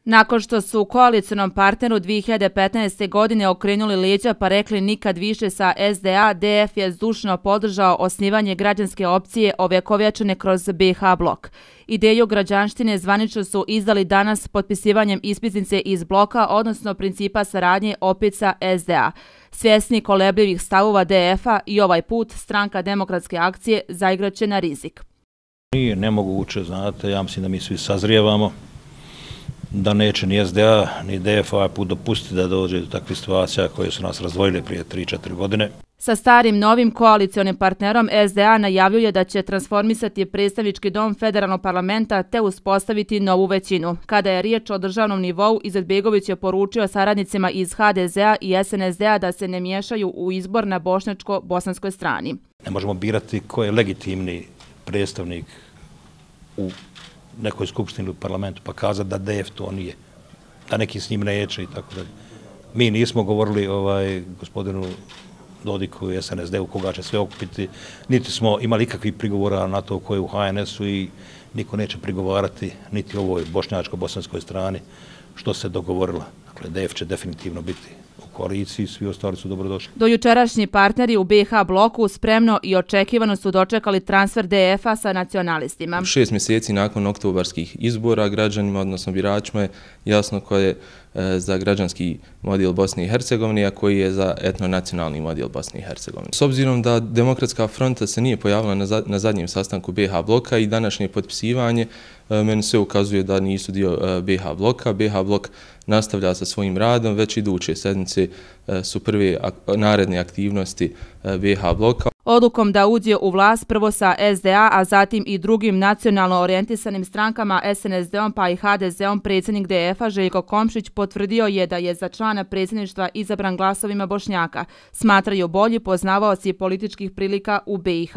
Nakon što su u koalicionom partneru 2015. godine okrenuli leđa pa rekli nikad više sa SDA, DF je zdušno podržao osnivanje građanske opcije ovekovječene kroz BiH blok. Ideju građanštine zvanično su izdali danas potpisivanjem ispisnice iz bloka, odnosno principa saradnje opet sa SDA. Svjesni kolebljivih stavova DF-a i ovaj put stranka Demokratske akcije zaigraće na rizik. Nije nemoguće, znate, ja mislim da mi svi sazrijevamo, da neće ni SDA ni DF ovaj put dopustiti da dođe do takvih situacija koje su nas razdvojile prije 3-4 godine. Sa starim novim koalicionim partnerom SDA najavljuje da će transformisati predstavnički dom federalnog parlamenta te uspostaviti novu većinu. Kada je riječ o državnom nivou, Izetbegović je poručio saradnicima iz HDZ-a i SNSD-a da se ne miješaju u izbor na bošnjačko-bosanskoj strani. Ne možemo birati ko je legitimni predstavnik u nekoj skupštini ili parlamentu pa kazati da DF to nije, da neki s njim neće i tako dalje. Mi nismo govorili gospodinu Dodiku i SNSD-u koga će sve okupiti, niti smo imali ikakvih prigovora na to ko je u HNS-u i niko neće prigovarati niti ovoj bošnjačko-bosanskoj strani što se dogovorilo. Dakle, DF će definitivno biti u koaliciji, svi ostali su dobrodošli. Dojučerašnji partneri u BiH bloku spremno i očekivano su dočekali transfer DF-a sa nacionalistima. 6 mjeseci nakon oktobarskih izbora građanima, odnosno biračima, je jasno ko je za građanski model Bosne i Hercegovine, a koji je za etnonacionalni model Bosne i Hercegovine. S obzirom da Demokratska fronta se nije pojavila na zadnjem sastanku BiH bloka i današnje potpisivanje, meni sve ukazuje da nisu dio BiH bloka. BiH blok nastavlja sa svojim radom, već iduće sedmice su prve naredne aktivnosti BiH bloka. Odlukom da uđe u vlast prvo sa SDA, a zatim i drugim nacionalno orijentisanim strankama SNSD-om pa i HDZ-om, predsjednik DF-a Željko Komšić potvrdio je da je za člana predsjedništva izabran glasovima Bošnjaka. Smatraju bolji poznavaoci političkih prilika u BiH.